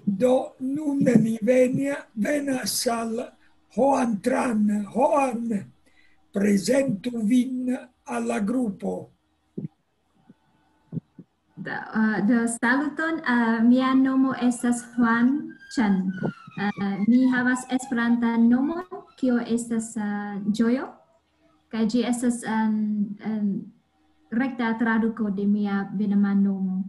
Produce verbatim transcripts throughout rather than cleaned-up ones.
Do nun ni venia, venas al Hoan Tran. Hoan, prezentu vin al la grupo. Do, uh, do saluton, uh, mia nomo estas Juan Chan. Uh, mi havas Esperantan nomon, kio estas uh, Ĝojo, kaj ĝi estas um, um, rekta traduko de mia venama nomo.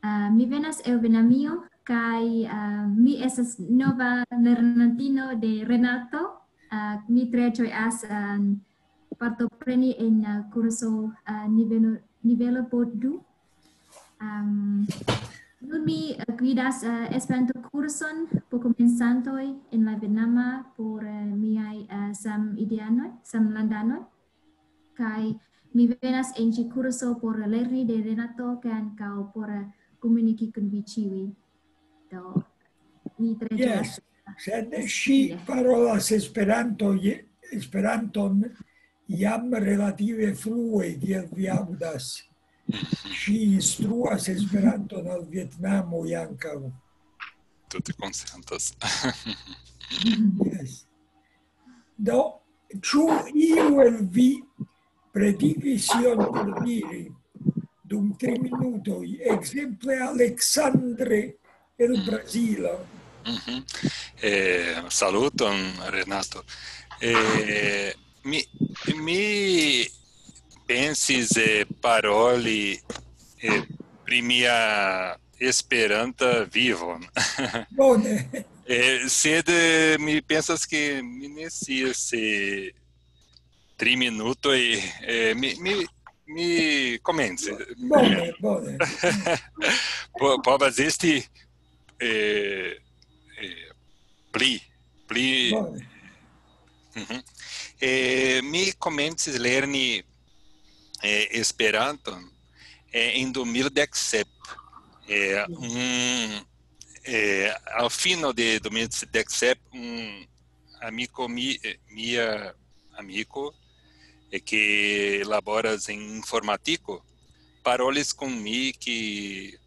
Uh, mi venas el Venamio, kaj uh, mi estas nova lernantino de Renato. Uh, mi tre ĝojas um, partopreni en uh, kurso uh, nivelo, nivelo po du. Um, nun mi uh, gvidas uh, Esperanto-kurson por komencantoj en la Venama por uh, miaj uh, samideanoj, samlandanoj. Kaj mi venas en ĉi kurso por lerni de Renato kaj ankaŭ por uh, komuniki kun vi ĉiuj. Do, mi tre Yes, sed ŝi parolas Esperanto, je- Esperanton jam relative frue, kiel vi aŭdas. Ŝi instruas Esperanton al Vietnamo ankaŭ. Tute konsentas. Yes. Do, ĉu iu el vi pretigis ion por diri dum tri minutoj? Ekzemple Aleksandre el Brazilo. Mhm. Eh, saluton, Renato. Eh, mi, mi pensis eh, paroli eh, pri mia Esperanta vivon. Bone. Eh, sed eh, mi pensas ke mi ne scias se tri minutoj eh, mi, mi, mi komenci. Bone, bone. Po- Povas esti eh, eh, pli, pli Bone. Mhm. Eh, mi komencis lerni eh, Esperanton eh, en du mil dek sep. Eh, un, eh, al fino de du mil dek sep, un amiko mi, eh, mia amiko eh, ke laboras en informatiko parolis kun mi ke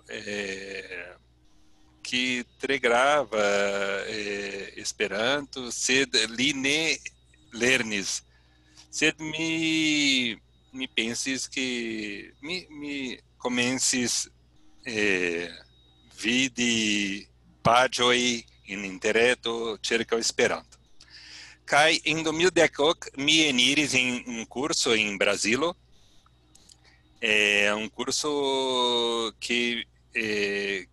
eh, ke tre grava eh, Esperanto, sed li ne lernis. Sed mi, mi pensis ke mi, mi komencis eh, vidi paĝoj en interreto ĉirkaŭ Esperanto. Kaj en du mil dek ok mi eniris en un kurso en Brazilo, eh, un kurso ke eh,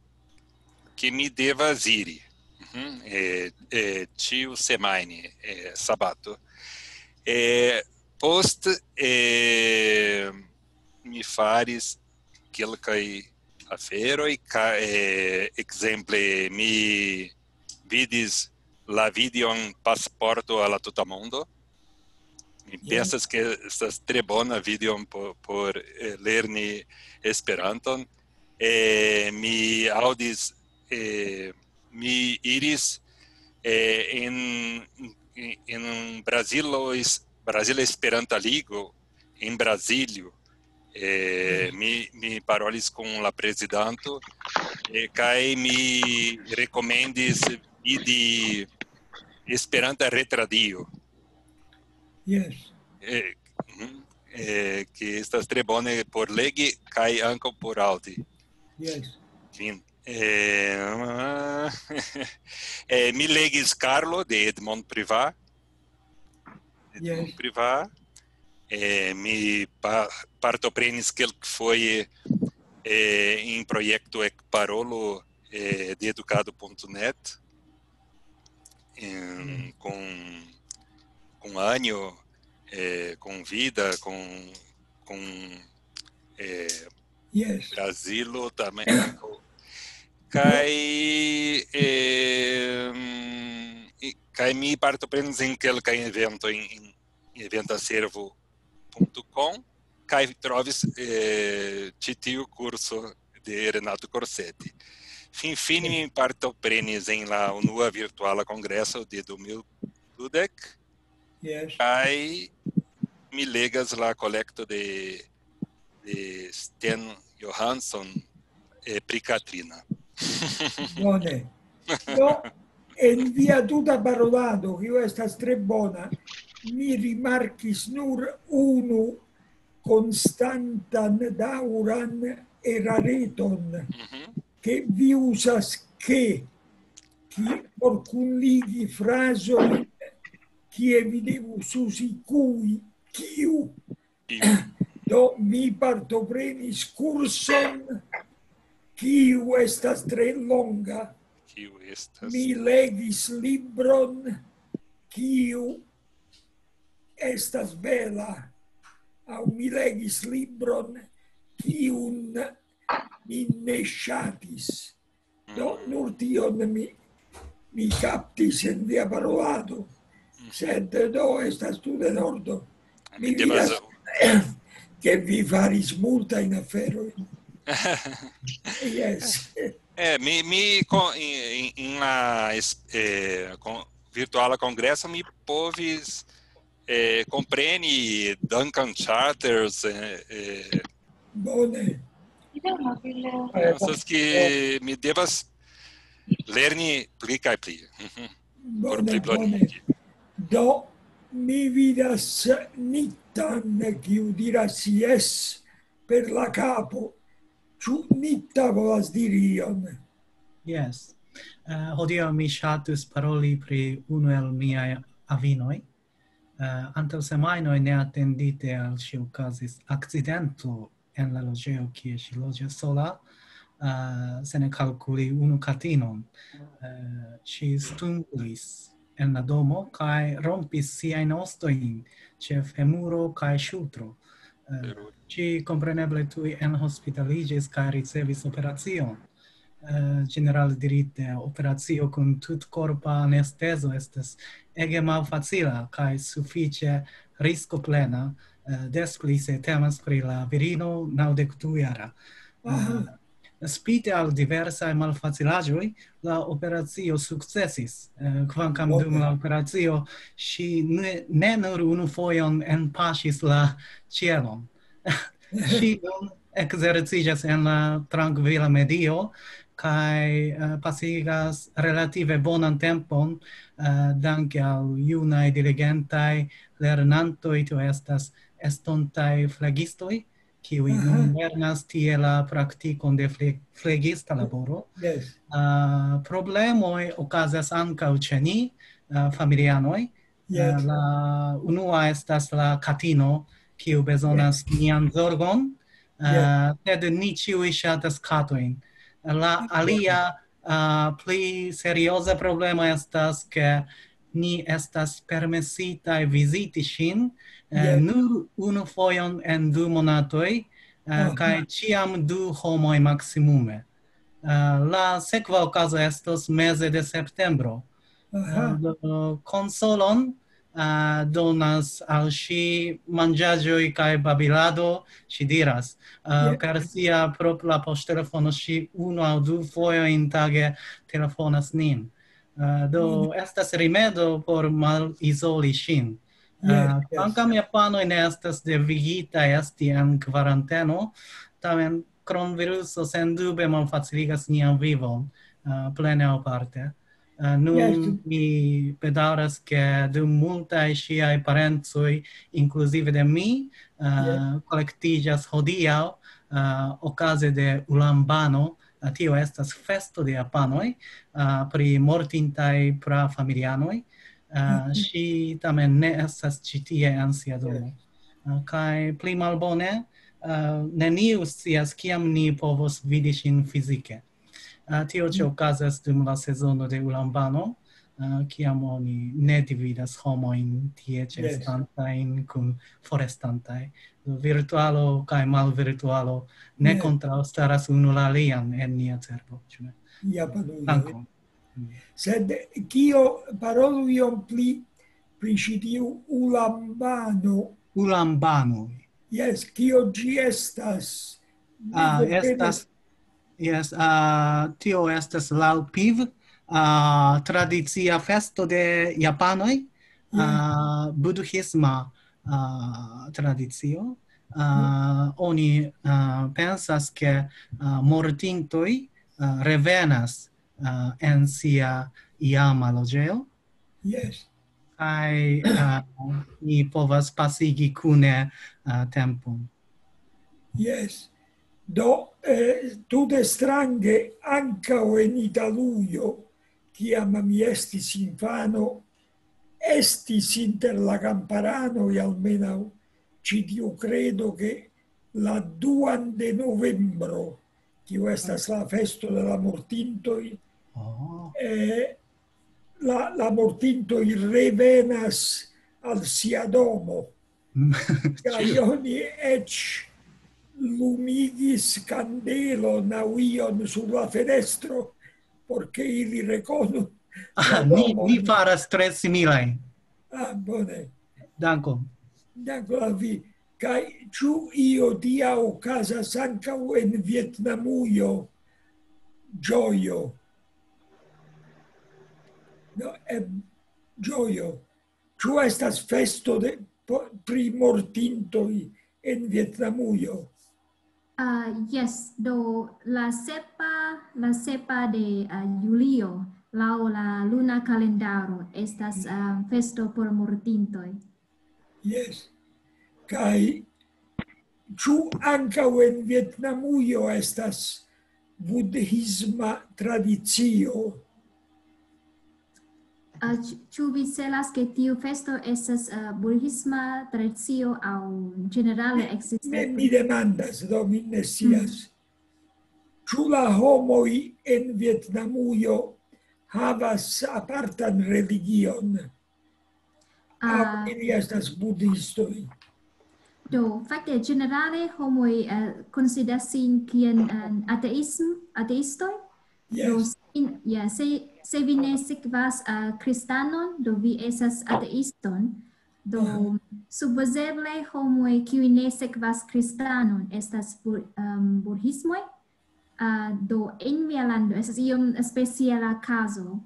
ke mi devas iri mhm, eh, eh, ĉiu semajne, eh, sabato. Eh, post eh, mi faris kelkaj aferoj, ka, eh, ekzemple mi vidis la videon Pasporto a la Tuta Mondo. Mi pensas ke estas tre bona videon por, por eh, lerni Esperanton. Eh, mi aŭdis, eh, mi iris eh, en, en Brazilo, Brazila Esperanta Ligo en Brazilio. Eh, mi, mi parolis kun la prezidanto eh, kaj mi rekomendis vidi Esperanta retradio. Yes. Eh, eh, ke estas tre bone por legi kaj ankaŭ por aŭdi. Yes. Fin. Eh, eh, mi legis Carlo de Edmond Privat. Edmond Yes. Privat. Eh, mi pa, partoprenis kelkfoje eh, en projekto Ekparolo eh, de edukado ponto net eh, con, con año, eh, con vida, con, con eh, Yes. Brazilo também. Kaj eh, mm, i- kaj mi partoprenis en kelkaj evento en, en eventaservo ponto com kaj trovis eh, ĉi tiu kurso de Renato Corsetti. Finfine mi partoprenis en la unua virtuala kongreso de du mil dudek Yes. kaj mi legas la kolekto de, de Sten Johansson eh, pri Katrina. Bone. Do, en via tuta parolado, kiu estas tre bona, mi rimarkis nur unu konstantan daŭran erareton, ke vi uzas ke, ki-, por kunligi frazojn, kie vi devus uzi kui, kiu. Do, mi partoprenis kurson, kiu estas tre longa. Kiu estas? Mi legis libron, kiu estas bela. Aŭ mi legis libron, kiun mi ne ŝatis. Do, nur tion mi, mi kaptis en via parolado. Sed do estas tute en ordo. Mi Mi devas vidas, ke vi faris multajn aferojn. Yes. Eh, mi, mi con, in, in, in la es- eh, con, virtuala congresso mi povis eh, compreni Duncan Charters, eh, eh, Bone. Pensas che mi devas lerni pli kaj pli. Mhm. Por Bone, pli bone. Bonigi. Do, mi vidas Nitan, kiu diras yes per la kapo. Ĉu Nita volas diri ion? Yes. Uh, hodiaŭ mi ŝatus paroli pri unu el miaj avinoj. Uh, antaŭ semajnoj neatendite al ŝi okazis akcidento en la loĝejo, kie ŝi loĝas sola, uh, sen kalkuli unu katinon. Uh, ŝi stumblis en la domo kaj rompis siajn ostojn ĉe femuro kaj ŝultro. Uh, ŝi kompreneble tuj enhospitaliĝis kaj ricevis operacion. Uh, ĝenerale dirite, operacio kun tutkorpa anestezo estas ege malfacila kaj sufiĉe riskoplena, uh, des pli se temas pri la virino naŭdek du jara. Uh, spite al diversaj malfacilaĵoj, la operacio sukcesis, uh, kvankam dum la operacio ŝi ne, ne nur unu fojon enpaŝis la ĉielon. Ŝi nun ekzerciĝas en la trankvila medio kaj, uh, pasigas relative bonan tempon, uh, danke al junaj diligentaj lernantoj, tio estas estontaj flegistoj, kiuj nun lernas tie la praktikon de fle- flegista laboro. Yes. Uh, problemoj okazas ankaŭ ĉe ni, uh, familianoj. Yes. Uh, la unua estas la katino, kiu bezonas nian zorgon, uh, sed ni ĉiuj ŝatas katojn. La alia, uh, pli serioza problemo estas, ke ni estas permesitaj viziti ŝin, uh, nur unu fojon en du monatoj, uh, kaj ĉiam du homoj maksimume. Uh, la sekva okazo estos meze de septembro. Uh, do, konsolon, uh, donas al ŝi manĝaĵoj kaj babilado, ŝi diras. Uh, per sia propra poŝtelefono ŝi unu aŭ du fojojn tage telefonas nin. Uh, do, estas rimedo por malizoli ŝin. Uh, kvankam japanoj ne estas devigitaj esti en kvaranteno, tamen kronviruso sendube malfaciligas nian vivon, uh, plene aŭ parte. Uh, nun mi bedaŭras, ke dum multaj ŝiaj parencoj, inkluzive de mi, uh, kolektiĝas hodiaŭ, uh, okaze de Ulambano, uh, tio estas festo de japanoj, uh, pri mortintaj prafamilianoj. Uh, ŝi tamen ne estas ĉi tie en sia domo. Uh, kaj pli malbone, uh, neniu scias, kiam ni povos vidi ŝin fizike. Uh, tio ĉe okazas dum la sezono de Ulambano, uh, kiam oni ne dividas homojn tie ĉeestantajn kun forestantaj. Virtualo kaj malvirtualo ne kontraŭstaras unu la alian en nia cerbo, ĉu ne? Japanoj. Dankon. Sed kio, parolu iom pli pri ĉi tiu Ulambano. Ulambanoj. Jes, kio ĝi estas? Mi Ah, komprenas. Estas, jes, ah, tio estas laŭ Piv, ah, tradicia festo de japanoj, ah, budhisma, ah, tradicio. Ah, oni, ah, pensas, ke, ah, mortintoj, uh, revenas uh, en sia iama loĝejo. Yes. Kaj uh, ni povas pasigi kune uh, tempon. Yes. Do, eh, tute strange, ankaŭ en Italujo, kiam mi estis infano, estis inter la kamparanoj almenaŭ ĉi tiu kredo, ke la duan de novembro, kiu estas la festo de la mortintoj, Oh. eh, la, la mortintoj revenas al sia domo. Kaj oni eĉ lumigis kandelon aŭ ion sur la fenestro, por ke ili rekonu Ah, ni, ni faras tre similajn. Ah, bone. Dankon. Dankon al vi. Kaj ĉu io tia okazas ankaŭ en Vietnamujo? Ĝojo. No, em, ĝojo. Ĉu estas festo de, po- pri mortintoj en Vietnamujo? Uh, yes, do la sepa, la sepa de uh, julio, laŭ la luna kalendaro, estas uh, festo por mortintoj. Yes. Kaj ĉu ankaŭ en Vietnamujo estas budhisma tradicio? Uh, ĉu- ĉu vi celas, ke tiu festo estas uh, budhisma tradicio aŭ ĝenerale Ne, ekzistas? Mi demandas, do mi ne scias. Ĉu la homoj en Vietnamujo havas apartan religion? Aŭ Ah, ili estas budhistoj? Do, fakte, ĝenerale homoj uh, konsideras sin kiel uh, ateism, ateistoj. Do, Yes. sin, yeah, se, se vi ne sekvas uh, kristanon, do vi estas ateiston. Do, supozeble homoj, kiuj ne sekvas kristanon, estas bu- um, budhismoj. Uh, do, en mia lando estas iom speciala kazo.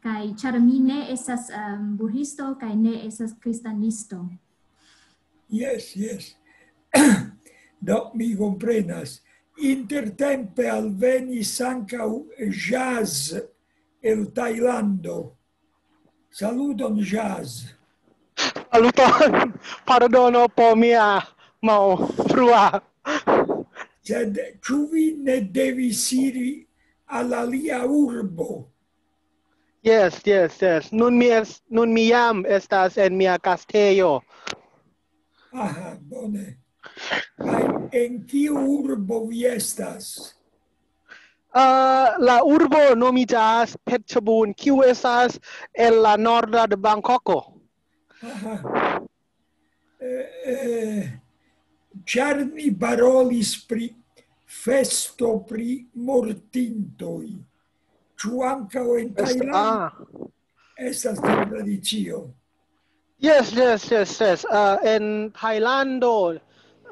Kaj ĉar mi ne estas um, budhisto kaj ne estas kristanisto. Yes, yes. Do, mi komprenas. Intertempe alvenis ankaŭ Jazz el Tajlando. Saluton, Jazz. Saluton, pardono por mia malfrua. Sed ĉu vi ne devis iri al alia urbo? Yes, yes, yes. Nun mi, es, nun mi jam estas en mia kastejo. Aha, bone. Kaj en kiu urbo vi estas? Uh, la urbo nomiĝas Phetchabun, kiu estas en la norda de Bangkoko. Aha. Eh, eh, ĉar mi parolis pri festo pri mortintoj. Ĉu ankaŭ en Tajlando Ah, estas tiu tradicio? Yes, yes, yes, yes. Uh, en Tajlando,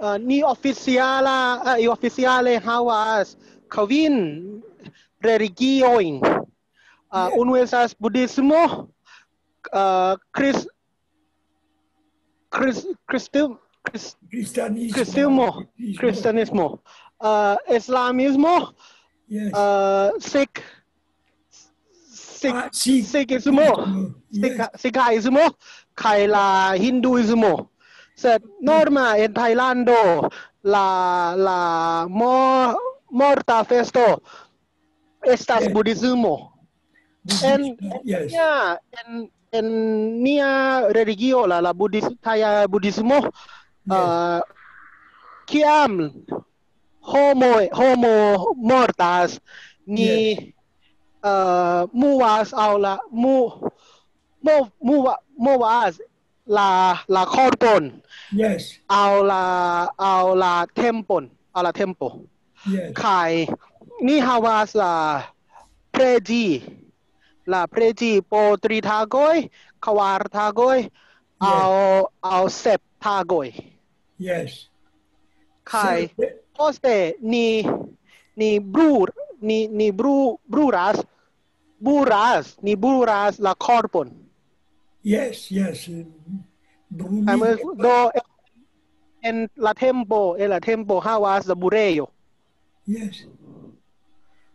uh, ni oficiala, uh, ni oficiale havas kvin religiojn. Uh, Yeah. Unu estas budhismo, uh, Chris, Chris, Christi, Chris, Kristanismo. Kristimo, kristanismo, uh, islamismo, Yes. uh, Sikh, Sikh, Ah, Sikh. Sikhismo, Yes. Sikha, Sikhismo, kaj la hinduismo. Sed norma en Tajlando la, la mo, morta festo estas Yes. budhismo. En, Yes. Ja, en, en nia religio, la, la budis, taja budhismo, Yes. uh, kiam homo, homo mortas, ni uh, movas aŭ la, mu, mov, mova, movas la, la korpon Yes. aŭ la, aŭ la tempon, aŭ la tempo. Yes. Kaj ni havas la preĝi, la preĝi po tri tagoj, kvar tagoj, aŭ, aŭ sep tagoj. Yes. Kaj Certe. Poste ni, ni brur, ni, ni bru, bruras, bruras, ni bruras la korpon. Yes, yes. Kaj Bruligi. Do, en la tempo, en la tempo havas la burejo. Yes.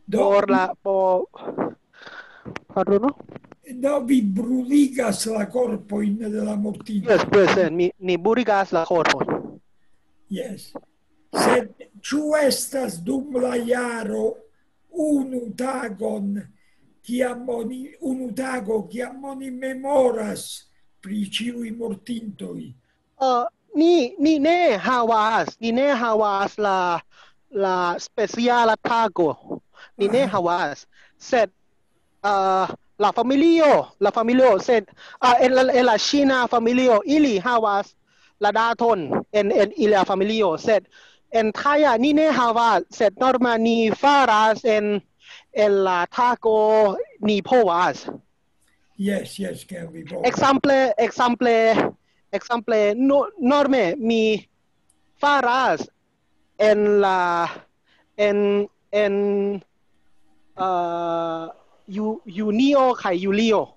Do, por la, por, pardonu? Do vi bruligas la korpojn de la mortintoj. Yes, yes, eh, mi, ni bruligas la korpojn. Yes. Sed ĉu estas dum la jaro unu tagon, kiam oni, unu tago, kiam oni memoras pri ĉiuj mortintoj? Uh, ni, ni ne havas, ni ne havas la, la speciala tago. Ni ne Aha. havas, sed, uh, la familio, la familio, sed, uh, en la, en la ŝina familio, ili havas la daton en, en ilia familio, sed en Thaia ni ne havas, sed norma ni faras en, en la tago ni povas. Yes, yes, ke vi povas. Ekzemple, ekzemple, ekzemple, no, norme mi faras en la, en, en, uh, ju-, junio kaj julio.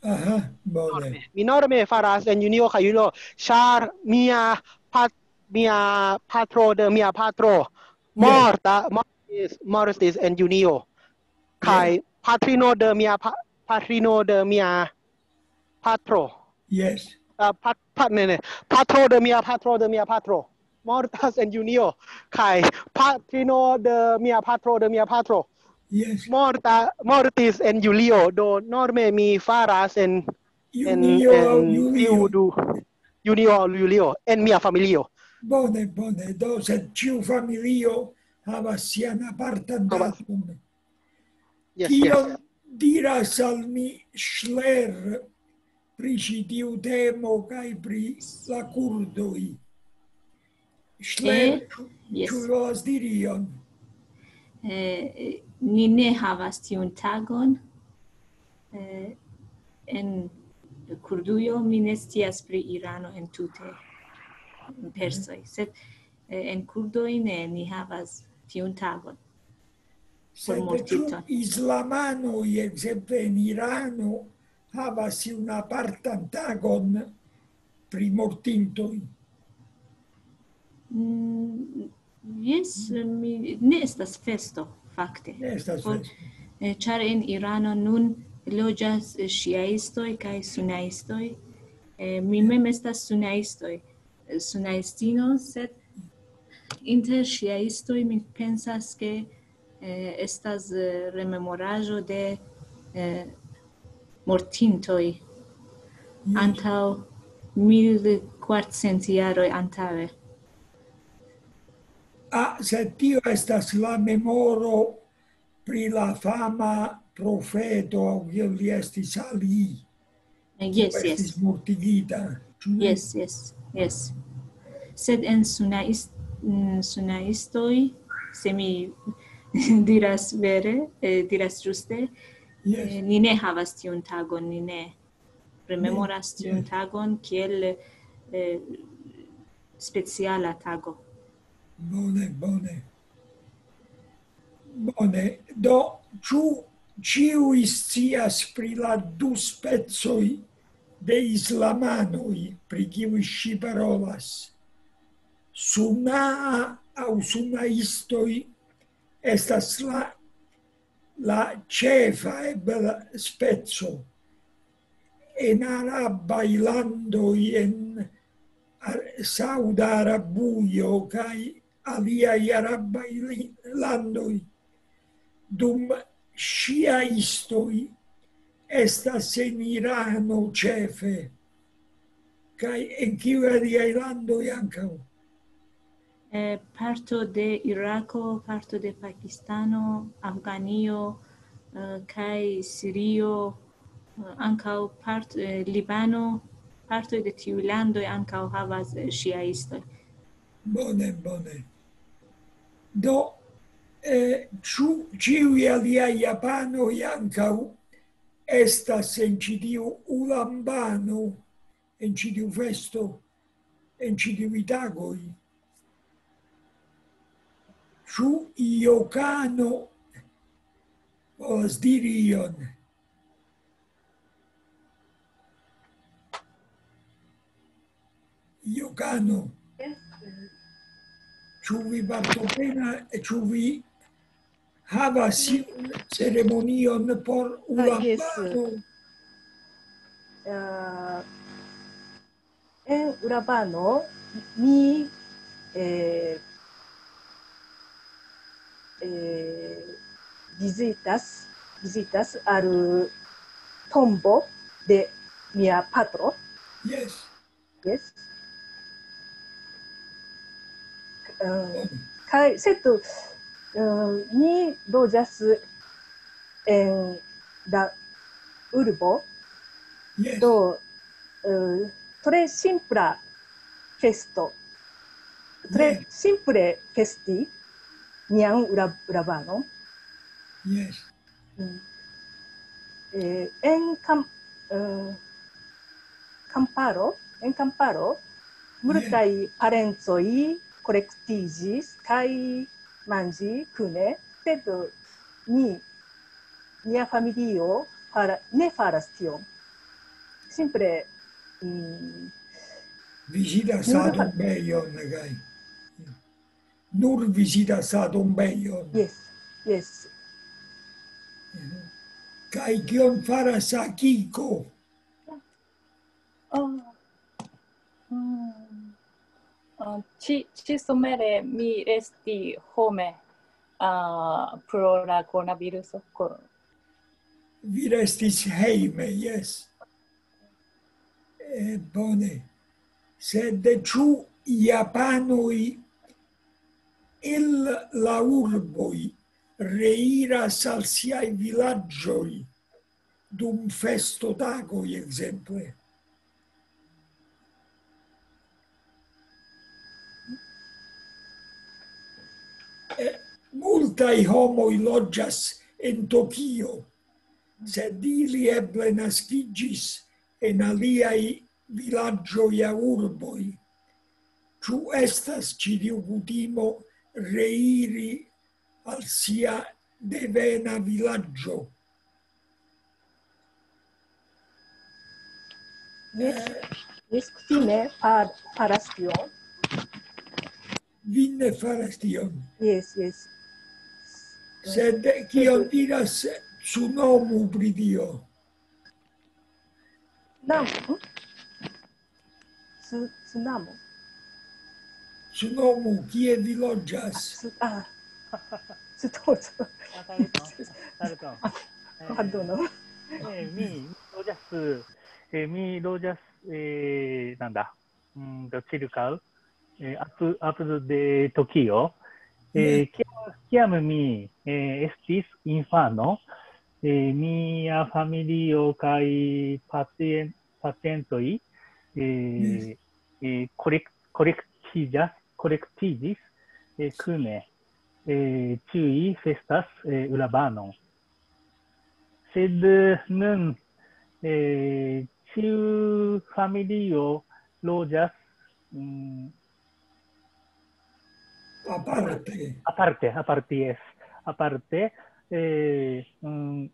Aha, bone. Mi norme faras en junio kaj julio, ĉar mia pat-, mia patro de mia patro Yes. morta, mortis, mortis en junio. Kaj Yes. patrino de mia pa-, patrino de mia patro. Yes. Uh, pat-, pat-, ne, ne. Patro de mia patro de mia patro mortas en junio. Kaj patrino de mia patro de mia patro Yes. morta, mortis en julio. Do norme mi faras en, en, Junio aŭ en julio. Tiu du, junio aŭ julio, en mia familio. Bone, bone. Do, sed ĉiu familio havas sian apartan Havas. daton. Yes, Kion yes. diras al mi Schler pri ĉi tiu temo kaj pri la kurdoj? Schler, Eh, ĉu, yes. ĉu volas diri ion? Eh, ni ne havas tiun tagon. Eh, en Kurdujo mi ne scias pri Irano en tute, persoj, sed, eh, en kurdoj ne, ni havas tiun tagon. Por Sed mortintoj. Ĉu islamanoj, ekzemple en Irano, havas iun apartan tagon pri mortintoj? Mm, jes, mi, ne estas festo, fakte. Ne estas Por, festo. eh, ĉar en Irano nun loĝas, eh, ŝiaistoj kaj sunaistoj. Eh, mi mem estas sunaistoj, eh, sunaistino, sed inter ŝiaistoj mi pensas, ke, eh, estas, eh, rememoraĵo de, eh, mortintoj Yes. antaŭ mil kvarcent jaroj antaŭe. Ah, sed tio estas la memoro pri la fama profeto, aŭ kiel li estis, Ali, Eh, yes, kiu estis yes. mortigita. Ĉu ne? Yes, yes, yes. Sed en sunais-, mm, sunaistoj, se mi diras vere, eh, diras ĝuste, Yes. eh, ni ne havas tiun tagon, ni ne rememoras Yes, tiun yes. tagon kiel, eh, speciala tago. Bone, bone. Bone, do, ĉu ĉiuj scias pri la du specoj de islamanoj, pri kiuj ŝi parolas? Sunaa aŭ sunaistoj estas la, la ĉefa ebla speco. En arabaj landoj, en Ar-, Sauda Arabujo kaj aliaj arabaj li-, landoj, dum ŝiaistoj estas en Irano ĉefe, kaj en kiuj aliaj landoj ankaŭ? Eh, parto de Irako, parto de Pakistano, Afganio, eh, kaj Sirio, eh, ankaŭ part-, eh, Libano, partoj de tiuj landoj ankaŭ havas, eh, ŝiaistoj. Bone, bone. Do, eh, ĉu ĉiuj aliaj japanoj ankaŭ estas en ĉi tiu ulambano, en ĉi tiu festo, en ĉi tiuj tagoj? Ĉu Jokano povas diri ion? Jokano, ĉu vi partopena-, ĉu vi havas iun ceremonion por Ah, jes. Ulapano? Ah, en Ulapano mi eh, eh, vizitas, vizitas al tombo de mia patro. Jes. Jes. Um, kaj, sed, um, ni loĝas en la urbo, Jes. do, uh, tre simpla festo. Tre Jes. Simple festi nian Ula-, Ulapano. Jes. Mm. Eh, en kam-, eh, kamparo, en kamparo, multaj parencoj kolektiĝis kaj manĝi kune, sed ni, nia familio fara-, ne faras tion. Simple, mm, Vizitas Nur fa- adombejon, kaj nur vizitas adombejon. Jes, jes. Kaj kion faras Akiko? Oh. Mm. Ah, ĉi, ĉi somere mi resti home, ah, pro la coronaviruso. Ko- Vi restis hejme, jes. Eh, bone. Sed ĉu japanoj el la urboj reiras al siaj vilaĝoj dum festotagoj, ekzemple? Eh, multaj homoj loĝas en Tokio, sed ili eble naskiĝis en aliaj vilaĝoj aŭ urboj. Ĉu estas ĉi tiu kutimo reiri al sia devena vilaĝo? Jes, jes, kutime far-, faras tion. Vi ne faras tion. Jes, jes. Sed kion diras Tsunomu pri tio? Nam-, hm? Tsu-, Tsunomu. Tsunomu, kie vi loĝas? Tsu-, ah. Tsunomu. あ、タルトン。タルトン。あ、どうも。えー、mi, mi loĝas, eh, mi loĝas, eh, なんだ、うんと、ĉirkaŭ, eh, apu-, apud de Tokio. Eh, kiam, kiam mi, eh, estis infano, eh, mia familio kaj pacien-, pacientoj, eh, eh, kolek-, kolektiĝas, kolektiĝis, eh, kune. Eh, ĉiuj festas, eh, Ulabanon. Sed, eh, nun, eh, ĉiu familio loĝas, mm, Aparte. aparte, aparte, jes. Aparte, eh, mm,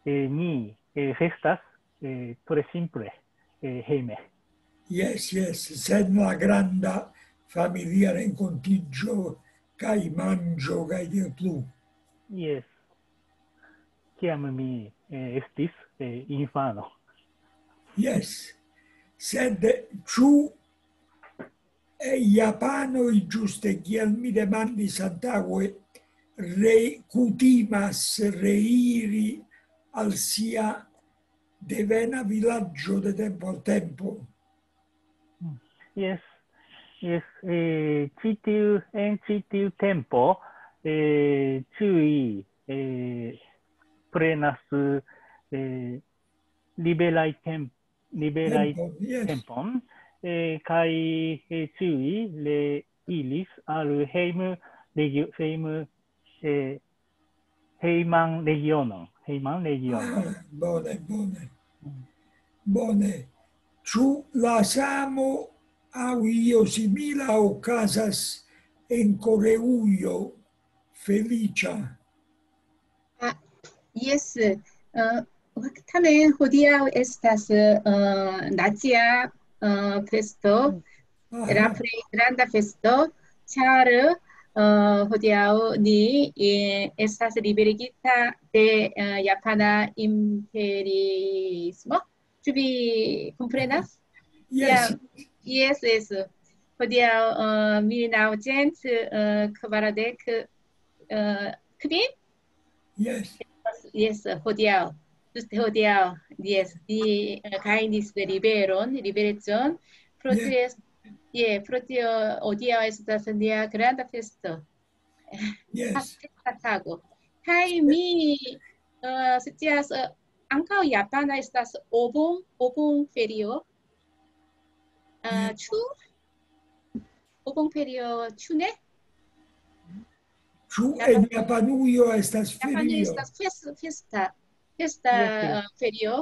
eh, ni, eh, festas, eh, tre simple, eh, hejme. Jes, jes, sen la granda familia renkontiĝo kaj manĝo kaj tiel plu. Jes. Kiam mi, eh, estis, eh, infano. Jes. Sed ĉu, eh, japanoj, ĝuste kiel mi demandis antaŭe, re-, kutimas reiri al sia devena vilaĝo de tempo al tempo? Jes, jes, eh, ĉi tiu, en ĉi tiu tempo, eh, ĉiuj, eh, prenas, eh, liberaj temp-, liberaj Tempo, jes. Tempon, eh, kaj, eh, ĉiuj le-, iris al hejm-, regio-, hejm-, eh, hejman regionon, hejman regionon. Ah, bone, bone. Bone. Ĉu la samo aŭ io simila okazas en Koreujo, Feliĉa? Ah, jes, eh, tamen hodiaŭ estas, eh, nacia, eh, festo, Aha. La plej granda festo, ĉar, eh, Uh, hodiaŭ ni eh, estas liberigita de uh, japana imperiismo. Ĉu vi komprenas? Yes. Yes, yes. Hodiaŭ uh, mil naŭcent kvardek kvin? Yes. Yes, hodiaŭ. Ĝuste hodiaŭ. Yes, ni uh, gajnis liberon, liberecon. Pro tio, yeah, pro tio hodiaŭ estas nia granda festo. Yes. Festa tago. Kaj mi uh, scias uh, ankaŭ japana estas obon, obon ferio. Uh, ĉu obon ferio, ĉu ne? Ĉu en Japanujo estas ferio? Estas festa, festa uh, ferio,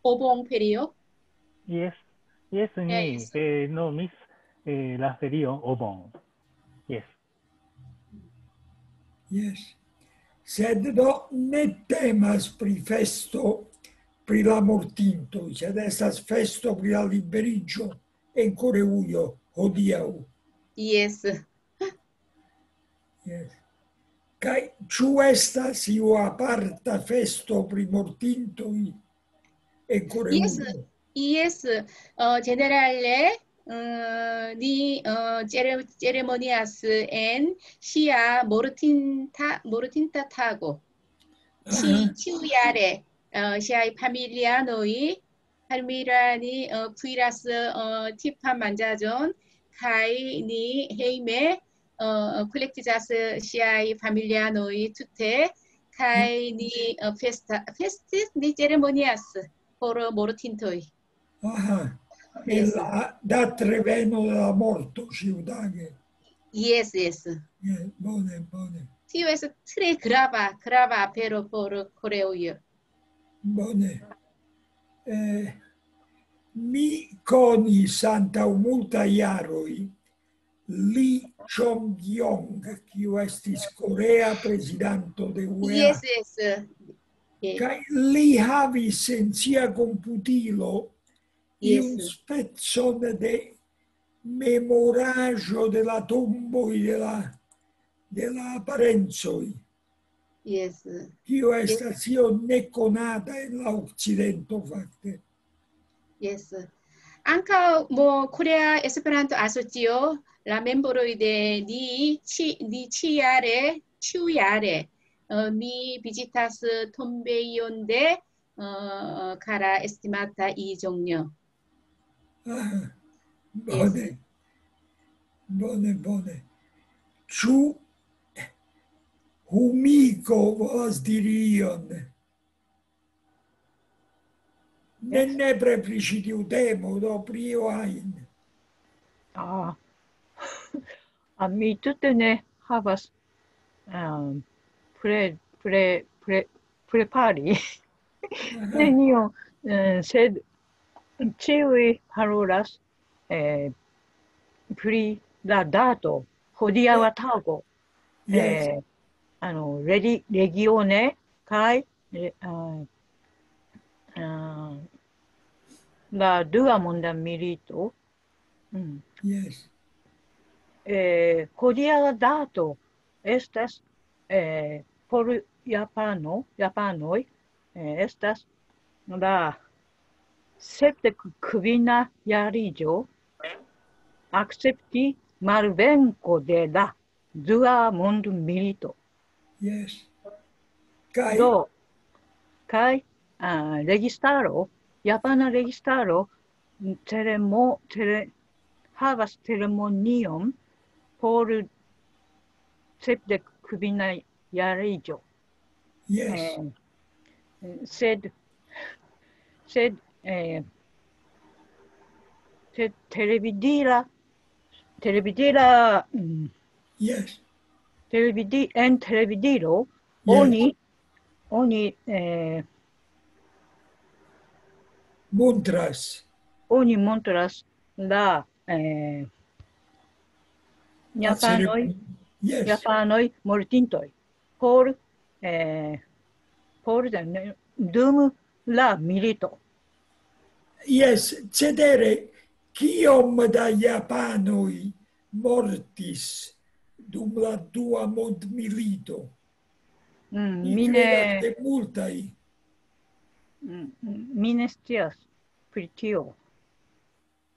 obon ferio. Yes, yes, ni eh, nomis eh, la ferio obon. Yes. Yes. Sed do ne temas pri festo pri la mortintoj, sed estas festo pri la liberiĝo en Koreujo hodiaŭ. Yes. Yes. Kaj ĉu estas iu aparta festo pri mortintoj en Koreujo? Yes, yes. Uh, generale uh, ni uh, ceremonias en sia mortinta, mortinta tago. Ĉiujare uh, siaj familianoj Palmira ni uh, kuiras uh, tipan manĝaĵon kaj ni hejme uh, kolektiĝas siaj familianoj tute kaj ni uh, festa, festis, ni ceremonias por mortintoj. Aha, la datreveno de la morto ĉiutage. Yes, yes. Yes, bone, bone. Tio estas tre grava, grava apero por Koreoj. Bone. Eh, mi konis antaŭ multaj jaroj Li Chong-yong, kiu estis korea prezidanto de U E A. Yes, yes. Kaj li havis en sia komputilo iun specon de memoraĵo de la tomboj de la, de la parencoj. Yes. Kio estas io nekonata en la okcidento, fakte. Yes. Ankaŭ mo Korea Esperanto Asocio, la membroj de ni ĉi, ni ĉiare, ĉiujare, uh, mi vizitas tombejon de uh, kara estimata Lee Jong-yo. Ah, bone. Bone, bone. Ĉu Humiko volas diri ion? Ne, nepre pri ĉi tiu temo, do pri io ajn. Ah, ah, mi tute ne havas um, pre, pre, pre, prepari nenion, eh, sed ĉiuj parolas eh, pri la dato, hodiaŭa tago. Yes. Eh, aの、レリ、レギオネ、kaj、eh, uh, uh, la dua monda milito. Mm. Yes. Eh, hodiaŭa dato estas eh, por Japano, japanoj, eh, estas la sepdek kvina jariĝo akcepti malvenko de la dua mondmilito. Yes. Kaj Do, kaj uh, registaro, japana registaro, ceremo, cere, havas ceremonion por sepdek kvina jariĝo. Yes. Eh, sed, sed, eh, sed televidila, televidila, mm, Yes. Televidi, en televidilo, Yes. Oni, oni, eh, Montras. Oni montras la, eh, japanoj, Yes. Japanoj mortintoj por, eh, por dum la milito. Yes, cetere, kiom da japanoj mortis dum la dua mondmilito. Mm, Mi mi kredas, ne, ke multaj. mm, mi ne scias pri tio.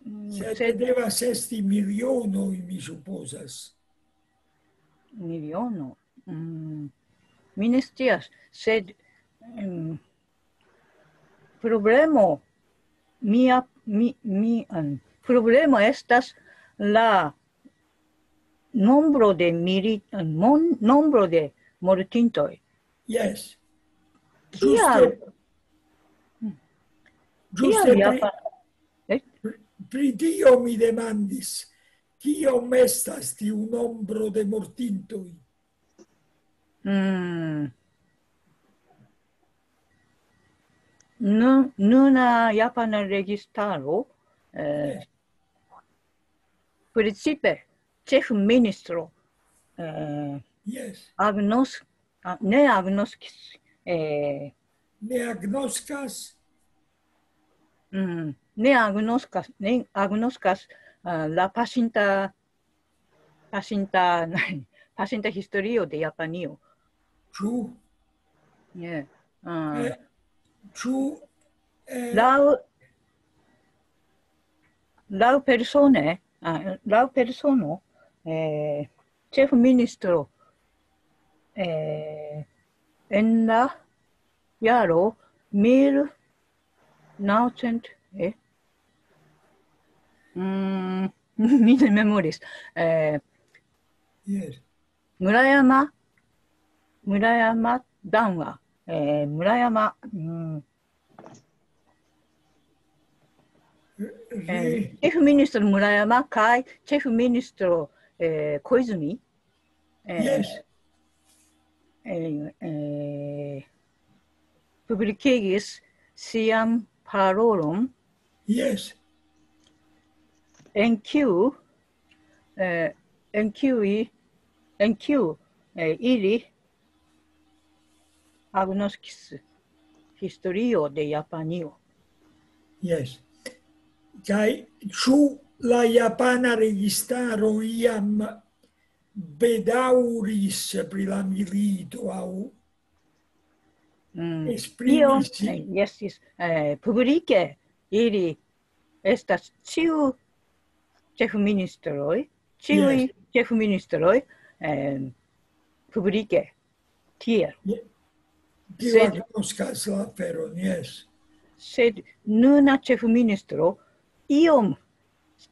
Mm, Sed sed devas esti milionoj, mi supozas. Miliono. Mm, mi ne scias, sed mm, problemo, mia, mi, mi, mm, problemo estas la nombro de mili-, mon-, nombro de mortintoj. Jes. Kial? Ĝuste, ĝuste Kial pri, Japa-, eh? pri tio mi demandis, kiom estas tiu nombro de mortintoj? Mm. Nu-, nuna japana registaro, eh, precipe ĉefministro, eh, Jes. agnos-, a, ne agnoskis, eh, Ne agnoskas? mm, ne agnoskas, ne agnoskas, ah, la pasinta, pasinta, pasinta historio de Japanio. Ĉu? Ne. Ah, Eh, Ĉu eh, laŭ, laŭ persone, ah, laŭ persono, eh, ĉefministro, eh, en la jaro mil naŭcent, eh, mm, mi ne memoris. Eh, Jes. Murayama, Murayama Danwa, eh, Murayama, mm, eh, Ri- ĉefministro Murayama kaj ĉefministro, eh, Koizumi, eh, Jes. eh, eh, publikigis sian parolon, Jes. en kiu, eh, en kiuj, en kiu, eh, ili agnoskis historio de Japanio. Jes. Kaj ĉu la japana registaro iam bedaŭris pri la milito aŭ Mm. esprimis Io, sin? Eh, jes, jes, eh, publike ili estas ĉiu ĉefministroj, ĉiuj Jes. ĉefministroj, eh, publike tiel. Kiu Sed agnoskas la aferon, jes. Sed nuna ĉefministro iom,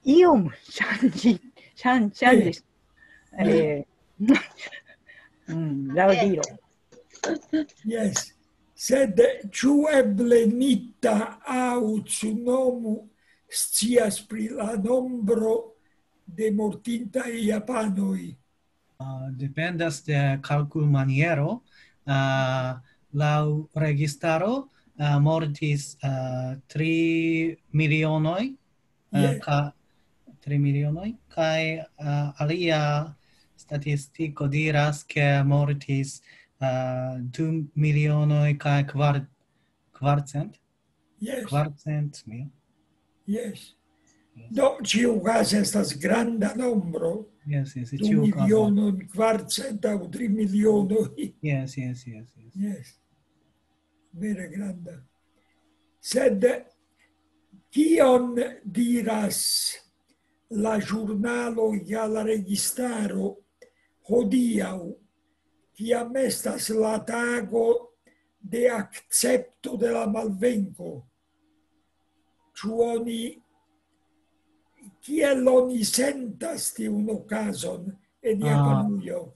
iom ŝanĝi-, ŝan-, ŝanĝis, eh, mm, laŭdiro. Jes. Sed ĉu eble Nita aŭ Tsunomu scias pri la nombro de mortintaj japanoj? Ah, dependas de kalkulmaniero. Ah, laŭ registaro, ah, mortis, ah, tri milionoj, ah, Jes. ka-, tri milionoj, kaj, ah, alia statistiko diras, ke mortis, ah, du milionoj kaj kvar-, kvarcent, Jes, kvarcent mil. jes. Do, ĉiukaze estas granda nombro. Jes, jes, Du ĉiukaze. Milionon kvarcent aŭ tri milionoj. Jes, jes, jes, jes. Jes. Vere granda. Sed kion diras la ĵurnalo ja la registaro hodiaŭ, kiam estas la tago de akcepto de la malvenko? Ĉu oni, kiel oni sentas tiun okazon en Ah. Japanujo?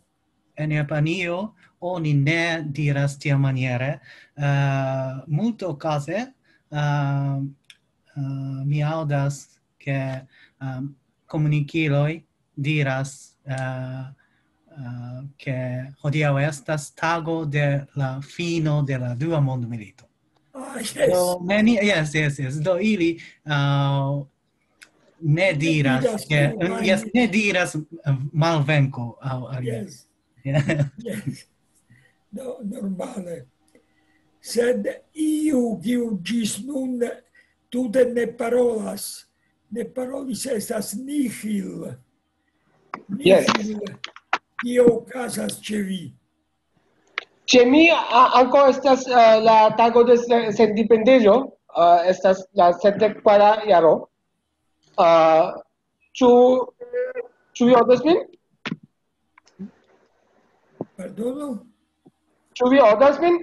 En Japanio oni ne diras tiamaniere. Eh, multokaze, eh, eh, mi aŭdas, ke, eh, komunikiloj diras, eh, eh, ke hodiaŭ estas tago de la fino de la Dua Mondmilito. Ah, jes. Do, neni-, jes, jes, jes. Do ili, eh, ne diras, diras ke, tiujn. Jes, ne diras, eh, malvenko aŭ alia. Jes, Jes. jes. Do, normale. Sed iu, kiu ĝis nun tute ne parolas, ne parolis, estas Nihil. Jes. Nihil. kio okazas ĉe vi? Ĉe mi a- ankaŭ estas eh, la tago de se- sendependeco, eh, estas la sepdek kvara jaro. Eh, Ĉu ĉu vi aŭdas min? Pardono? Ĉu vi aŭdas min?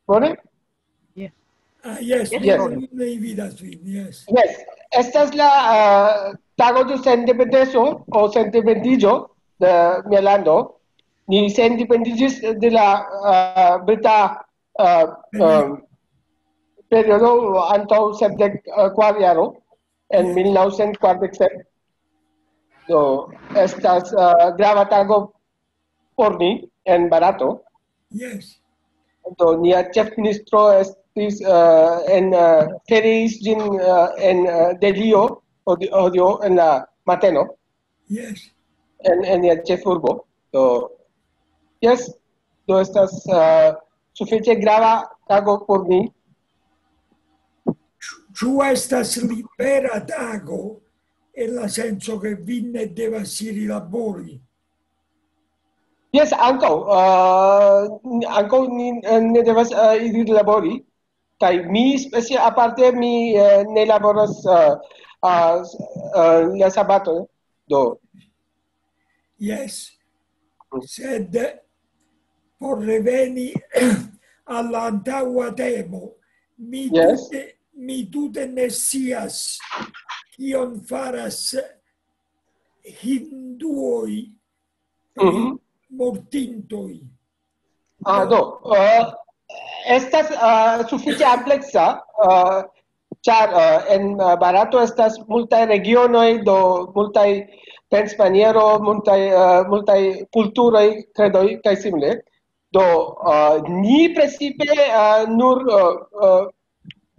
Bone? Ah, yes, Yes. Mi vidas vin, yes. Yes. Estas la eh, tago de sendependeco o sendependiĝo de mia lando. Ni sendependiĝis de la eh, brita eh, eh, periodo antaŭ sepdek kvara jaro en mil naŭcent kvardek sep. Do estas eh, grava tago por ni en Barato. Yes. Do nia ĉefministro estis eh, en eh, feriis ĝin eh, en eh, Delhio hodi- hodiaŭ en la mateno Yes. en, en nia ĉefurbo. Do yes, do estas eh, sufiĉe grava tago por ni. Ĉu estas libera tago en la senco ke vi ne devas iri labori? Yes, ankaŭ. Uh, ankaŭ ni eh, ne devas uh, iri labori. Kaj mi specie aparte mi uh, ne laboras uh, uh, uh, la sabato. Do, Yes. Sed por reveni al la antaŭa temo, mi Yes. tute, mi tute ne scias kion faras hinduoj pri Mhm. mortintoj. Ah, do, uh, estas uh, sufiĉe ampleksa, uh, ĉar uh, en uh, Barato estas multaj regionoj, do multaj pensmaniero, multaj, uh, multaj kulturoj, kredoj kaj simile. Do, uh, ni precipe uh, nur uh, uh,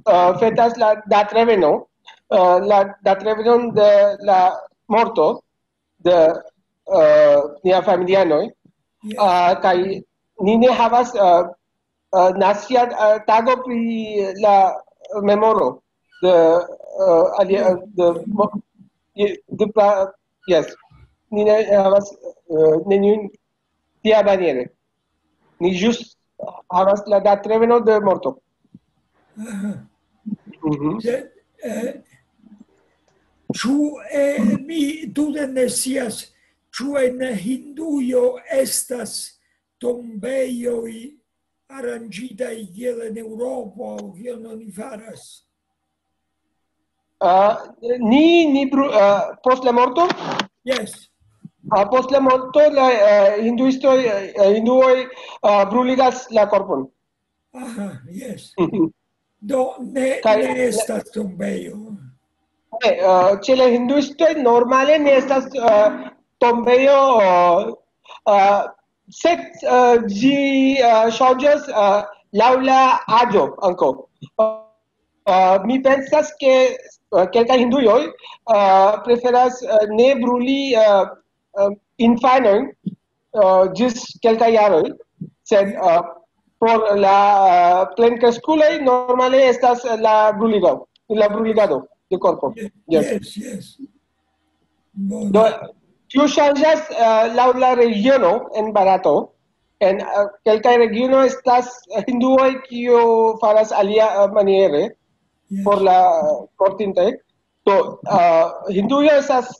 uh, fetas la datreveno, uh, la datrevenon de la morto de uh, nia familianoj, uh, kaj ni ne havas uh, uh, nacia uh, tago pri la memoro de uh, alia, de, mo- de, de, yes, ni ne havas uh, neniun tia maniere. Ni ĵus havas la datreveno de morto. Aha. Mhm. Sed, eh, ĉu eh, mi tute ne scias, ĉu en Hindujo estas tombejoj aranĝitaj kiel en Eŭropo, aŭ kion oni faras? Uh, ni ni bru, uh, post la morto, Yes. uh, post la morto la uh, hinduistoj, uh, hinduoj uh, bruligas la korpon. Aha, yes. Do ne, Kaj- ne estas tombejo. Ne, uh, ĉe la hinduistoj normale ne estas uh, tombejo, uh, uh, sed uh, ĝi uh, ŝanĝas uh, laŭ la aĝo ankaŭ. Uh, mi pensas ke uh, kelkaj hinduoj uh, preferas uh, ne bruli uh, uh, infanojn uh, ĝis kelkaj jaroj, sed uh, por la uh, plenkreskuloj normale estas la bruligo, la bruligado de korpo. Yes. Yes, yes. Do, tio ŝanĝas uh, laŭ la regiono en Barato. En uh, kelkaj regionoj estas hinduoj kiu faras alia uh, maniere Yes. Por la mortintaj. Do, uh, Hindujo estas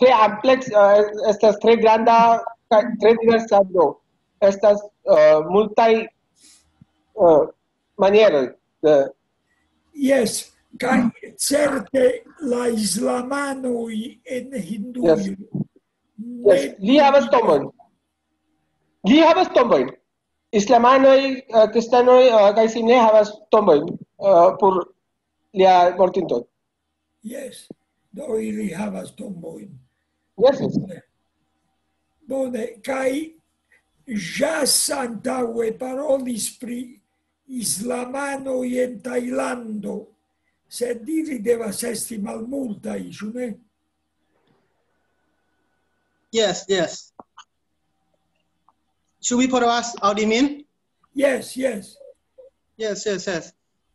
tre ampleks, uh, estas tre granda, kaj tre diversa, do estas uh, multaj uh, manieroj. De, Yes, kaj certe la islamanoj en Hindujo. Yes. Yes. Li havas tombojn. Li havas tombojn. Islamanoj, uh, kristanoj uh, kaj simile havas tombojn uh, por lia mortinto. Yes, do ili havas tombojn. Yes, yes. Bone, kaj Jas antaŭe parolis pri islamanoj en Tajlando, sed ili devas esti malmultaj, ĉu ne? Yes, yes. Ĉu vi povas aŭdi min? Yes, yes. Yes, yes, yes.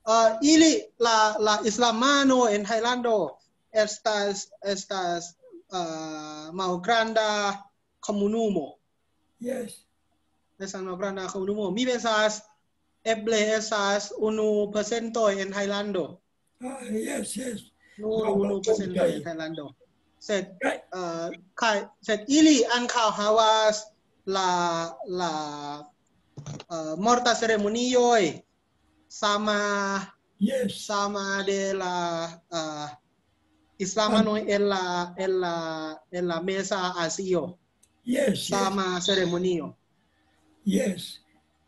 Uh, ili la la islamano en Tajlando estas estas uh, malgranda komunumo. Yes. Estas malgranda komunumo. Mi pensas eble estas unu procento en Tajlando. Ah, yes, yes. Nur No, unu no, procento okay. En Tajlando. Sed, Kaj, uh, kaj, sed ili ankaŭ havas la, la uh, morta ceremonioj sama, yes. Sama de la uh, islamanoj en la, en la, en la Meza Azio. Yes, yes. Sama ceremonio. Yes.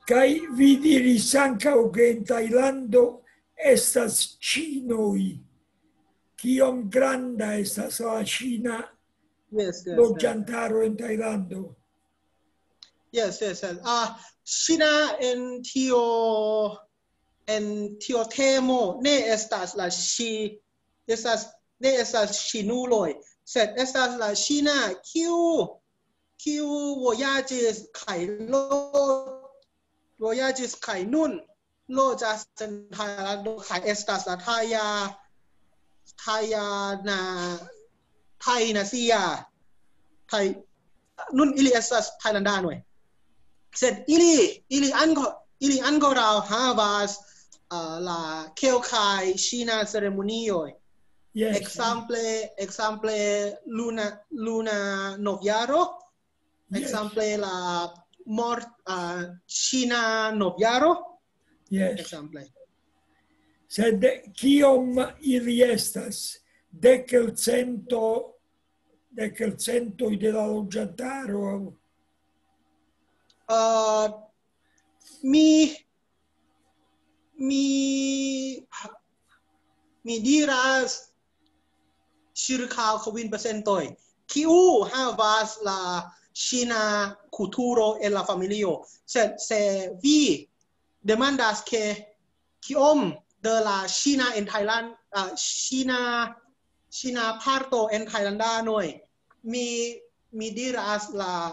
Kaj vi diris ankaŭ, ke en Tajlando estas ĉinoj. Kiom granda estas la ĉina Yes, yes, yes. Loĝantaro en Tajlando? Yes, yes, yes. Ah, China en tio, en tio temo ne estas la ŝi, estas, ne estas ŝinuloj, sed estas la China kiu, kiu vojaĝis kaj lo, vojaĝis kaj nun loĝas en Tajlando kaj estas la taja, taja na, taj nacia, taj, nun ili estas tajlandanoj. Sed ili, ili anko, ili ankoraŭ havas uh, la kelkaj ŝina ceremonioj. Yes. Ekzemple, ekzemple luna, luna novjaro, Yes. Ekzemple la mort, uh, ŝina novjaro, Yes. Ekzemple. Sed kiom ili estas? Dek el cento, dek el centoj de la loĝantaro? Uh, mi, mi, mi diras circa kvin procentoj. Kiu havas la ŝina kulturo en la familio? Se, se vi demandas ke kiom de la ŝina en Thailand, uh, ŝina, ŝina parto en Thailandanoj, mi, mi diras la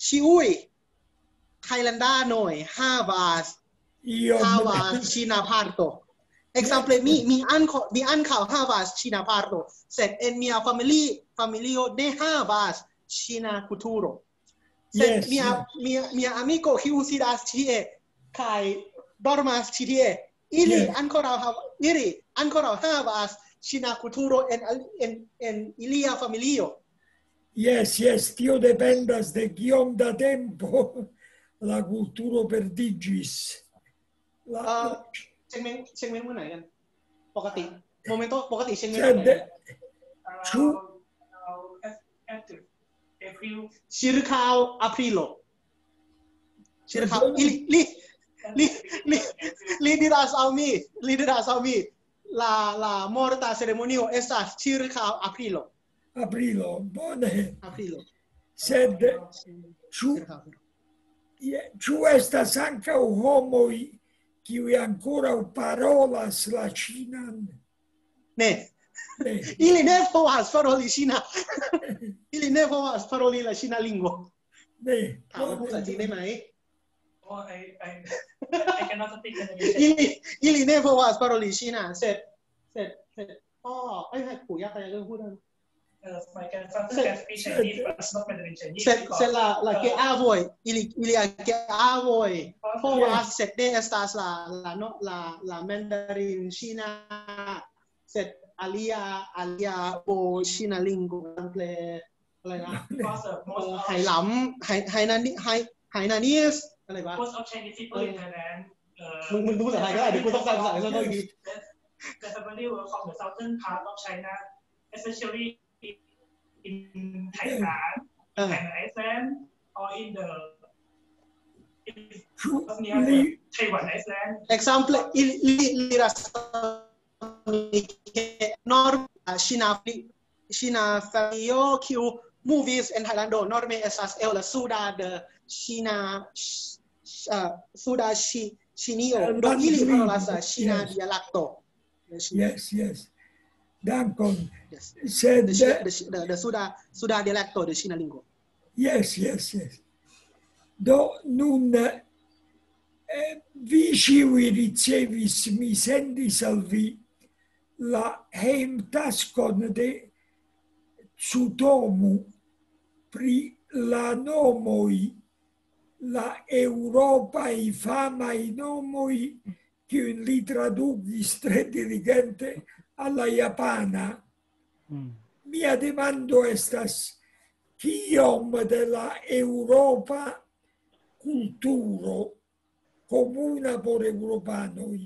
ĉiuj Thailandanoj havas, Iom. Havas ŝina parto. Ekzemple, mi, mi ankaŭ, mi ankaŭ havas ŝina parto, sed en mia famili, familio ne havas ŝina kulturo. Sed Yes, mia, yes. Mia, mia amiko kiu sidas tie kaj dormas ĉi tie, ili Yes. Ankoraŭ hav, ili ankoraŭ havas ŝina kulturo en, en, en ilia familio. Yes, yes, tio dependas de kiom da tempo la kulturo perdiĝis. La, Uh, เช็คเมนต์ เช็คเมนต์เมื่อไหร่กัน ปกติ โมเมนต์ปกติเช็คเมนต์ Sed, เมื่อไหร่ ĉu April. ชิรคาวอาพริโล ชิรคาว ili, li, li, li, li diras al mi, li diras al mi, la, la morta ceremonio estas ĉirkaŭ aprilo. Aprilo, bone. Aprilo. Sed ĉu, je- ĉu estas ankaŭ homoj, kiuj ankoraŭ parolas la ĉinan? Ne, Ne, ili ne povas paroli ŝina. Ili ne povas paroli la ŝina lingvo. Ne. ถามว่าพูดภาษาจีนได้ไหม Oh, I, I, I cannot speak Mandarin. Ili, ili ne povas paroli ŝina, sed, sed, sed, oh, 哎，哎，不要，大家跟互动。 Uh, my grandfather can speak Chinese, but not Mandarin Chinese. Sed, Because, sed la, la uh, geavoj, ili, ili geavoj povas, sed ne estas la, la, no, la, la mandarin ŝina, sed alia, alia po ŝina lingvo, ekzemple, อะไรนะ because uh, most of ไหหลำ ไหไหนานิ ไหไหนานิส อะไรวะ most of Chinese people in Thailand. Uh, มึง มึงพูดภาษาไทยก็ได้ เดี๋ยวกูต้องแปลภาษาไทย ขอโทษที The family were from the southern part of China, especially in Taiwan, Uh. Taiwan Island, or in the in Ĉu near li, Taiwan Island. Ekzemple, ili, ili, ili diras ke norma ŝina, ŝina familio, kiu movis en Tajlando, norme estas el la suda de ŝina, ŝ-, ŝ-, uh, suda ŝi, ŝinio. Do ili parolas la ŝina dialekto. Yes, yes. Dankon. Yes. Sed, De, ŝi- de, ŝi- de, de suda, suda dialekto de ŝina lingvo. Yes, yes, yes. Do nun, eh, vi ĉiuj ricevis, mi sendis al vi la hejmtaskon de Tsutomu pri la nomoj la eŭropaj famaj nomoj, kiujn li tradukis tre diligente al la japana. Mia demando estas, kiom de la eŭropa kulturo komuna por eŭropanoj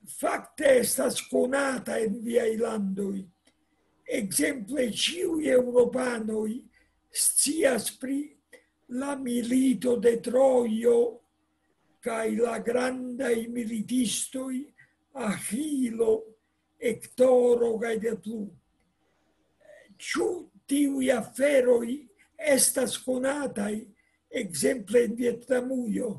fakte estas konata en viaj landoj? Ekzemple, ĉiuj eŭropanoj scias pri la milito de Trojo kaj la grandaj militistoj Aĥilo, Hektoro kaj de plu. Ĉu tiuj aferoj estas konataj, ekzemple en Vjetnamujo?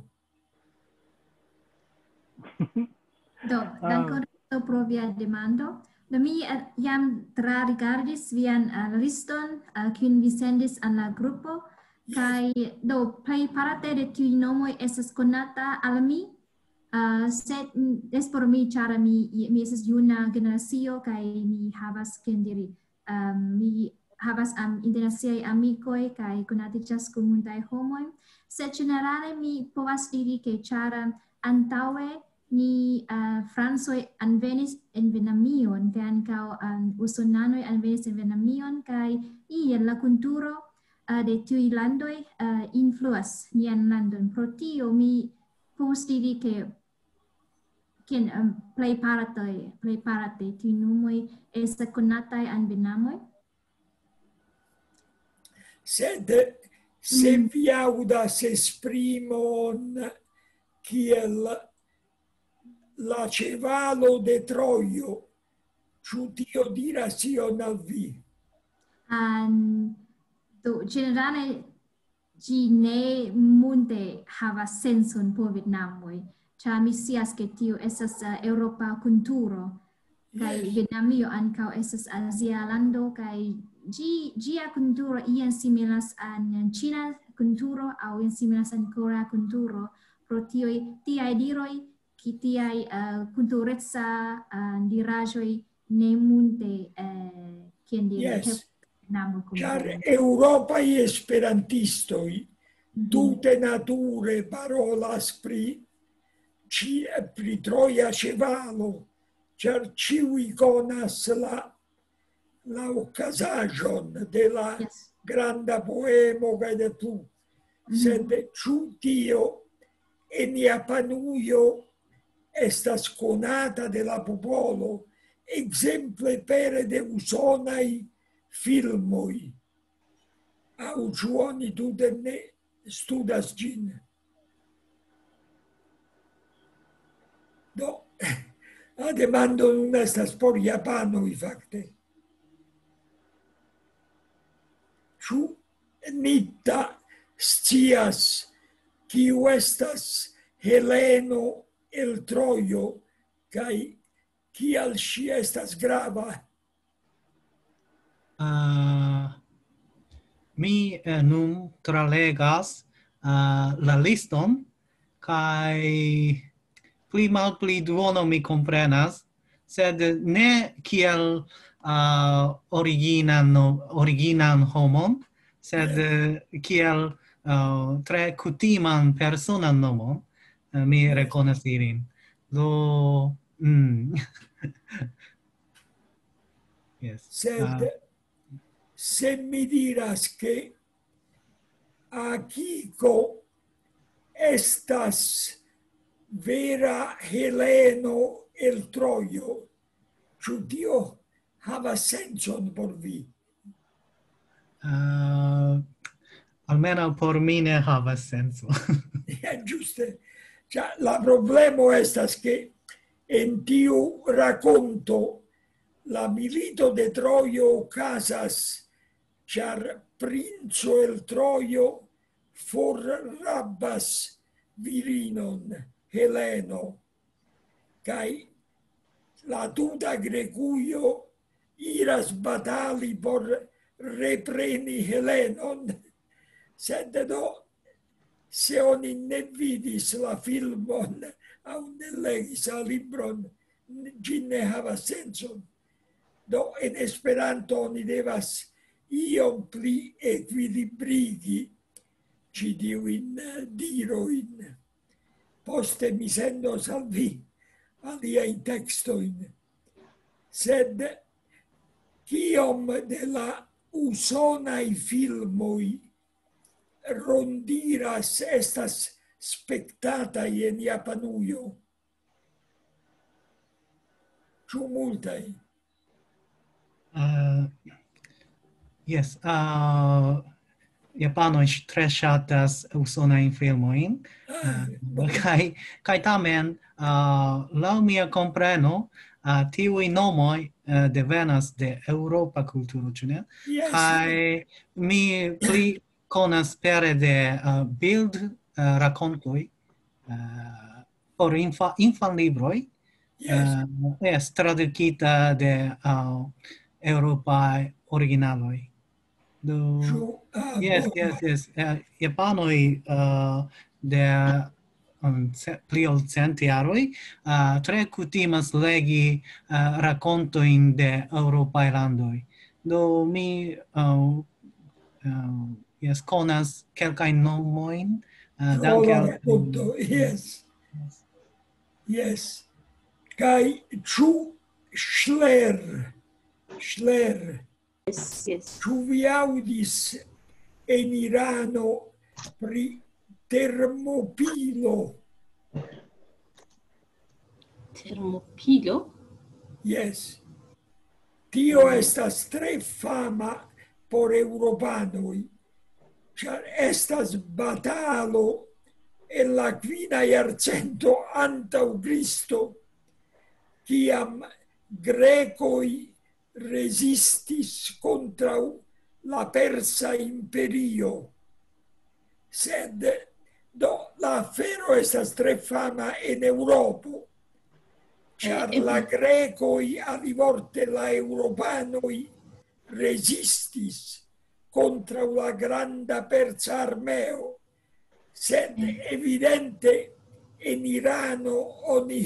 Do, dankon pro via demando. Do, mi eh, jam trarigardis vian eh, liston eh, kiun vi sendis al la grupo. Kaj do, plej parte de tiuj nomoj estas konata al mi. Uh, sed mm, es por mi, ĉar mi, mi estas juna generacio kaj mi havas, kiel diri, um, mi havas am, internaciaj amikoj kaj konatiĝas kun multaj homoj. Sed ĝenerale mi povas diri, ke ĉar antaŭe ni uh, francoj anvenis en Vjetnamion, kaj ankaŭ um, usonanoj anvenis en Vjetnamion, kaj iel la kulturo uh, de tiuj landoj uh, influas nian landon. Pro tio mi povas diri, ke kiel um, plej parte, plej parte tiuj nomoj estas konataj en Vjetnamo. Sed se mm. vi aŭdas esprimon kiel la ĉevalo de Trojo, ĉu tio diras ion al vi? Um, do, ĝenerale ĝi ne multe havas senson por Vjetnamoj, ĉar mi scias, ke tio estas uh, eŭropa kulturo, kaj Vjetnamio ankaŭ estas azia lando, kaj ĝi, ĝia kulturo iam similas al ĉina kulturo aŭ iam similas al korea kulturo, pro tioj, tiaj diroj, ki tiaj uh, kultureca uh, diraĵoj ne multe, uh, kiel diri, yes. Ĉar eŭropaj esperantistoj tute nature parolas pri, pri troja ĉevalo, ĉar ĉiuj konas la, la okazaĵon de la yes. granda poemo kaj de plu. Mm -hmm. Sed ĉu tio en Japanujo estas konata de la popolo, ekzemple pere de usonaj filmoj? Aŭ ĉu oni tute ne studas ĝin? Do, la demando nun estas por japanoj, fakte. Ĉu Nita scias, kiu estas Heleno el Trojo, kaj kial ŝi estas grava? Uh, mi uh, nun tralegas uh, la liston, kaj pli malpli duono mi komprenas, sed ne kiel uh, originan, originan homon, sed uh, kiel uh, tre kutiman personan nomon, uh, mi rekonas ilin. Do, mm. yes. Sed uh, se mi diras, ke Akiko estas vera Heleno el Trojo, ĉu tio havas sencon por vi? Uh, almenaŭ por mi ne havas senco. Ĝuste. Cioè, la problemo estas, ke en tiu rakonto la milito de Trojo okazas, ĉar princo el Trojo forrabas virinon, Heleno, kaj la tuta Grekujo iras batali por repreni Helenon. Sed do, se oni ne vidis la filmon aŭ ne legis la libron, ĝi ne havas sencon. Do, en Esperanto oni devas iom pli ekvilibrigi ĉi tiujn, eh, dirojn. Poste mi sendos al vi aliajn tekstojn. Sed kiom de la usonaj filmoj rondiras, estas spektataj en Japanujo? Ĉu multaj? Uh, yes, uh, japanoj ŝ-, tre ŝatas usonajn filmojn. Uh, kaj, kaj tamen, uh, laŭ mia kompreno, uh, tiuj nomoj, uh, devenas de eŭropa kulturo, ĉu ne? Yes. Kaj mi pli konas pere de, uh, bild, uh, rakontoj, uh, por infa-, infanlibroj, Yes. uh, yes, tradukita de, uh, eŭropaj originaloj. Do, Ĉu, ah, yes, bone. Yes, yes. Uh, japanoj, uh, de, um, ce-, pli ol cent jaroj, uh, tre kutimas legi, uh, rakontojn de eŭropaj landoj. Do mi, uh, uh, yes, konas kelkajn nomojn, uh, Pro danke la al rakonto, yes. Yes. Kaj ĉu Schler, Schler, Yes, yes. Ĉu vi aŭdis en Irano pri Termopilo? Termopilo? Yes. Tio estas tre fama por eŭropanoj, ĉar estas batalo en la kvina jarcento antaŭ Kristo, kiam grekoj rezistis kontraŭ la Persa Imperio. Sed, do, la afero estas tre fama en Eŭropo, ĉar Eh, eh. La grekoj, alivorte la eŭropanoj, rezistis kontraŭ la granda persa armeo. Sed evidente en Irano oni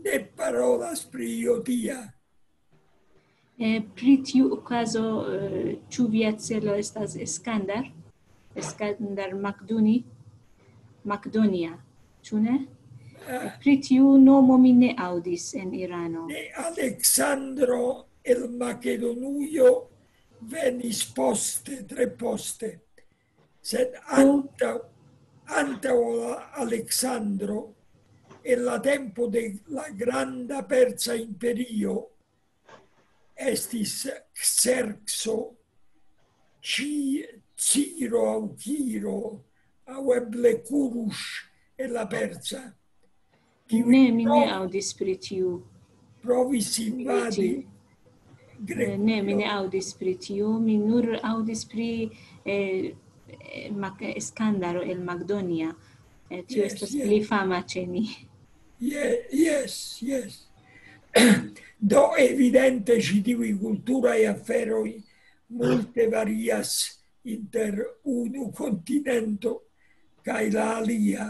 ne parolas pri io tia. Eh, pri tiu okazo, eh, ĉu via celo estas Eskandar? Eskandar Makduni? Makdonia, ĉu ne? Eh, pri tiu nomo mi ne aŭdis en Irano. Ne, Aleksandro el Makedonujo venis poste, tre poste. Sed antaŭ, antaŭ la Aleksandro, en la tempo de la granda Persa Imperio, estis Xerxo, Ci-, Ciro aŭ Kiro, aŭ eble Kurush en la Persa. Kiu Ne, mi ne provis, aŭdis pri tiu. Provis invadi Eh, ne, mi ne aŭdis pri tiu. Mi nur aŭdis pri, eh, eh, Mac-, Eskandaro el Makdonia. Eh, tio Yes, estas yes. Pli fama ĉe ni. Ye-, yes, yes. Do evidente ĉi tiuj kulturaj aferoj multe varias inter unu kontinento kaj la alia.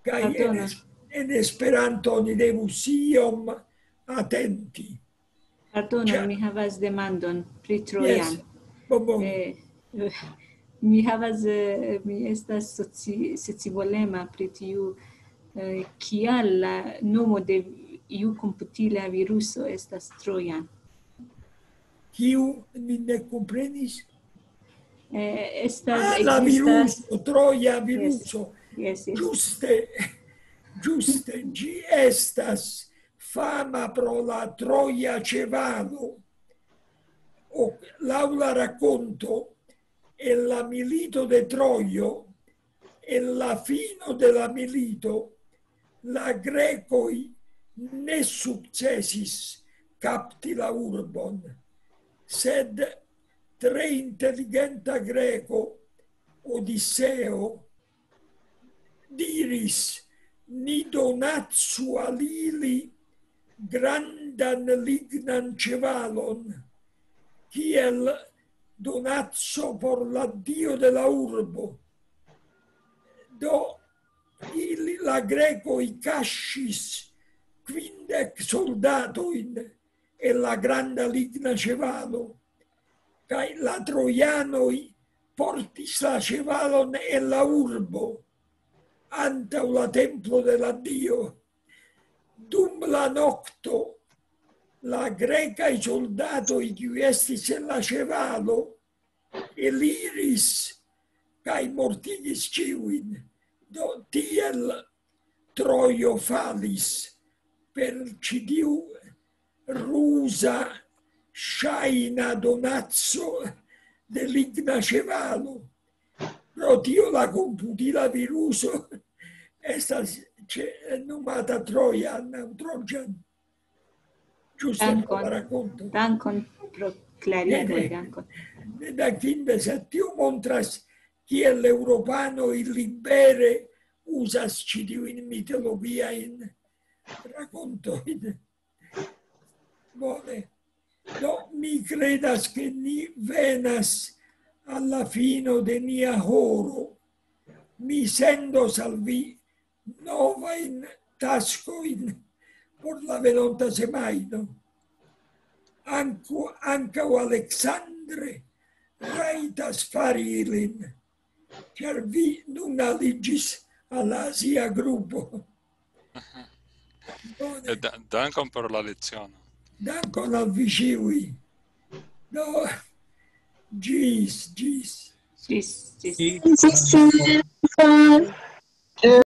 Kaj en, Pardona. Es-, en Esperanto oni devus iom atenti. Pardonu, Ĉa- mi havas demandon pri Trojan. Yes. Bon, bon. Eh, eh, mi havas, eh, mi estas soci-, scivolema pri tiu, eh, kial la nomo de iu komputila viruso estas Trojan. Kiu mi ne komprenis? Eh, estas, Ah, la ekzistas viruso, Troja viruso. Yes, yes. Ĝuste, ĝuste, ĝi estas fama pro la Troja ĉevalo. O, laŭ la rakonto, en la milito de Trojo, en la fino de la milito, la grekoj ne sukcesis kapti la urbon, sed tre inteligenta greko, Odiseo, diris: "Ni donacu al ili grandan lignan ĉevalon, kiel donaco por la dio de la urbo." Do ili, la grekoj, kaŝis kvindek soldatojn en la granda ligna ĉevalo, kaj la trojanoj portis la ĉevalon en la urbo, antaŭ la templo de la dio. Dum la nokto la grekaj soldatoj, kiuj estis en la ĉevalo, eliris kaj mortigis ĉiujn. Do tiel Trojo falis per ĉi tiu ruza ŝajna donaco de ligna ĉevalo. Pro tio la komputila viruso estas ĉe, nomata Trojan aŭ Trojan. Ĝuste pro la rakonto. Dankon pro klarigo, dankon. Dankinde, sed tio montras kiel eŭropanoj libere uzas ĉi tiujn mitologiajn rakontojn. Bone. Do, mi kredas, ke ni venas al la fino de nia horo. Mi sendos al vi novajn taskojn por la venonta semajno. Anku, ankaŭ Aleksandre rajtas fari ilin, ĉar vi nun aliĝis al la azia grupo. Bone. Eh, da- Dankon por la leciono. Dankon al vi ĉiuj. Do, ĝis, ĝis. Ĝis, ĝis. Ĝis